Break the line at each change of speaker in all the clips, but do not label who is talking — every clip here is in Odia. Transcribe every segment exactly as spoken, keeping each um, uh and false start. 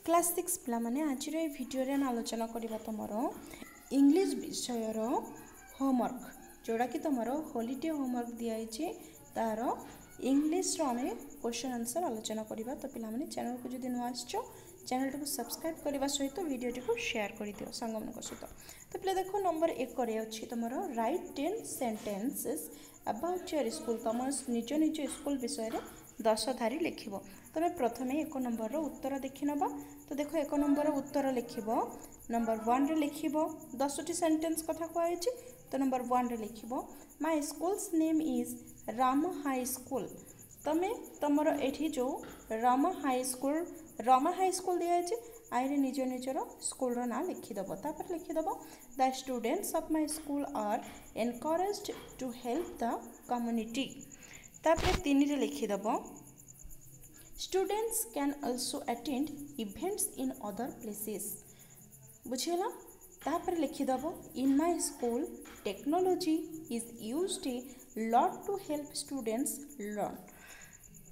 କ୍ଲାସ୍ ସିକ୍ସ ପିଲାମାନେ ଆଜିର ଏଇ ଭିଡ଼ିଓରେ ଆମେ ଆଲୋଚନା କରିବା ତୁମର ଇଂଲିଶ ବିଷୟର ହୋମୱାର୍କ ଯେଉଁଟାକି ତୁମର ହୋଲିଡେ ହୋମୱାର୍କ ଦିଆହେଇଛି ତାର ଇଂଲିଶର ଆମେ କ୍ୱେଶ୍ଚନ୍ ଆନ୍ସର୍ ଆଲୋଚନା କରିବା ତ ପିଲାମାନେ ଚ୍ୟାନେଲକୁ ଯଦି ନୂଆ ଆସିଛ ଚ୍ୟାନେଲଟିକୁ ସବସ୍କ୍ରାଇବ୍ କରିବା ସହିତ ଭିଡ଼ିଓଟିକୁ ସେୟାର କରିଦିଅ ସାଙ୍ଗମାନଙ୍କ ସହିତ ତ ପିଲା ଦେଖ ନମ୍ବର ଏକରେ ଅଛି ତୁମର Write ten sentences about your school ତୁମ ନିଜ ନିଜ ସ୍କୁଲ ବିଷୟରେ ଦଶ ଧାରି ଲେଖିବ ତମେ ପ୍ରଥମେ ଏକ ନମ୍ବରର ଉତ୍ତର ଦେଖିନେବା ତ ଦେଖ ଏକ ନମ୍ବର ଉତ୍ତର ଲେଖିବ ନମ୍ବର ୱାନ୍ରେ ଲେଖିବ ଦଶଟି ସେଣ୍ଟେନ୍ସ କଥା କୁହାହେଇଛି ତ ନମ୍ବର ୱାନ୍ରେ ଲେଖିବ My school's name is Rama High School ତମେ ତମର ଏଠି ଯେଉଁ ରାମ ହାଇସ୍କୁଲ ରମା ହାଇସ୍କୁଲ ଦିଆହେଇଛି ଆଇରେ ନିଜ ନିଜର ସ୍କୁଲର ନାଁ ଲେଖିଦେବ ତାପରେ ଲେଖିଦେବ The students of my school are encouraged to help the community ତାପରେ ତିନିରେ ଲେଖିଦେବ Students can also attend events in other places ବୁଝିହେଲା ତାପରେ ଲେଖିଦେବ In my school technology is used a lot to help students learn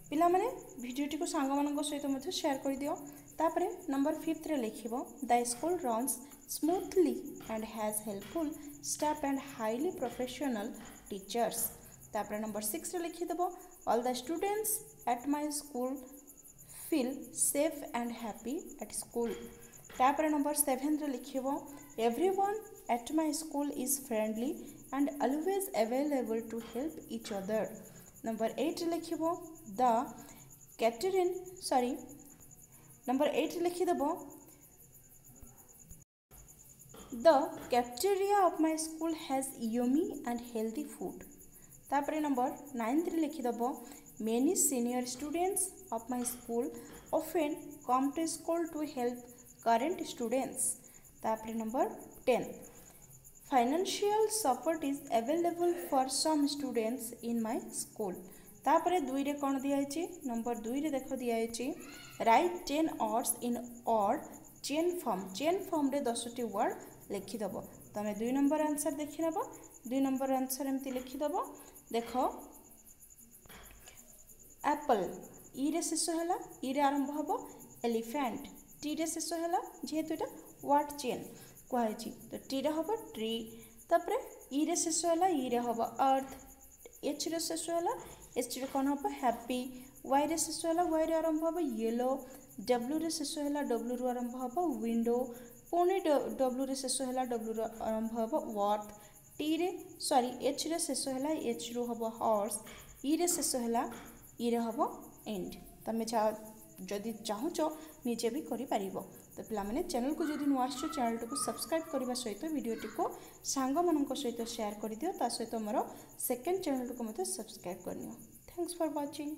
ପିଲାମାନେ ଭିଡ଼ିଓଟିକୁ ସାଙ୍ଗମାନଙ୍କ ସହିତ ମଧ୍ୟ ସେୟାର କରିଦିଅ ତାପରେ ନମ୍ବର ଫିଫ୍ଥରେ ଲେଖିବ The school runs smoothly and has helpful staff and highly professional teachers ତାପରେ number ସିକ୍ସରେ ଲେଖିଦେବ All the students at my school feel safe and happy at school ତାପରେ ନମ୍ବର ସେଭେନରେ ଲେଖିବ Everyone at my school is friendly and always available to help each other number ଏଇଟ୍ରେ ଲେଖିବ ଦ କ୍ୟାଟେରିନ୍ ସରି number ଏଇଟ୍ରେ ଲେଖିଦେବ The cafeteria of my school has yummy and healthy food ତାପରେ number ନାଇନ୍ଥରେ ଲେଖିଦେବ Many senior students of my school often come to school to help current students ତାପରେ number ten Financial support is available for some students in my school ତାପରେ ଦୁଇରେ କ'ଣ ଦିଆହେଇଛି ନମ୍ବର ଦୁଇରେ ଦେଖ ଦିଆହେଇଛି Write ten words in word chain form chain ଫର୍ମରେ ଦଶଟି ୱାର୍ଡ଼ ଲେଖିଦେବ ତମେ ଦୁଇ ନମ୍ବର ଆନ୍ସର୍ ଦେଖିନେବ ଦୁଇ ନମ୍ବର ଆନ୍ସର୍ ଏମିତି ଲେଖିଦେବ ଦେଖ ଆପଲ୍ ଇରେ ଶେଷ ହେଲା ଇରେ ଆରମ୍ଭ ହେବ ଏଲିଫ୍ୟାଣ୍ଟ ଟିରେ ଶେଷ ହେଲା ଯେହେତୁ ଏଇଟା ୱାର୍ଡ଼ ଚେନ୍ କୁହାହେଇଛି ତ ଟିରେ ହେବ ଟ୍ରି ତାପରେ ଇରେ ଶେଷ ହେଲା ଇରେ ହେବ ଆର୍ଥ ଏଚ୍ରେ ଶେଷ ହେଲା ଏଚ୍ରେ କ'ଣ ହେବ ହ୍ୟାପି ୱାଇରେ ଶେଷ ହେଲା ୱାଇରେ ଆରମ୍ଭ ହେବ ୟେଲୋ ଡବ୍ଲୁରେ ଶେଷ ହେଲା ଡବ୍ଲୁରୁ ଆରମ୍ଭ ହେବ ୱିଣ୍ଡୋ ପୁଣି ଡବ୍ଲୁରେ ଶେଷ ହେଲା ଡବ୍ଲୁରୁ ଆରମ୍ଭ ହେବ ୱାର୍ଥ ଟିରେ ସରି ଏଚ୍ରେ ଶେଷ ହେଲା ଏଚ୍ରୁ ହେବ ହର୍ସ ଇରେ ଶେଷ ହେଲା ଇରେ ହେବ ଏଣ୍ଡ ତମେ ଯାହା ଯଦି ଚାହୁଁଛ ନିଜେ ବି କରିପାରିବ ତ ପିଲାମାନେ ଚ୍ୟାନେଲକୁ ଯଦି ନୂଆ ଆସିଛ ଚ୍ୟାନେଲଟିକୁ ସବସ୍କ୍ରାଇବ୍ କରିବା ସହିତ ଭିଡ଼ିଓଟିକୁ ସାଙ୍ଗମାନଙ୍କ ସହିତ ସେୟାର କରିଦିଅ ତା ସହିତ ମୋର ସେକେଣ୍ଡ ଚ୍ୟାନେଲଟିକୁ ମଧ୍ୟ ସବସ୍କ୍ରାଇବ୍ କରିନିଅ Thanks for watching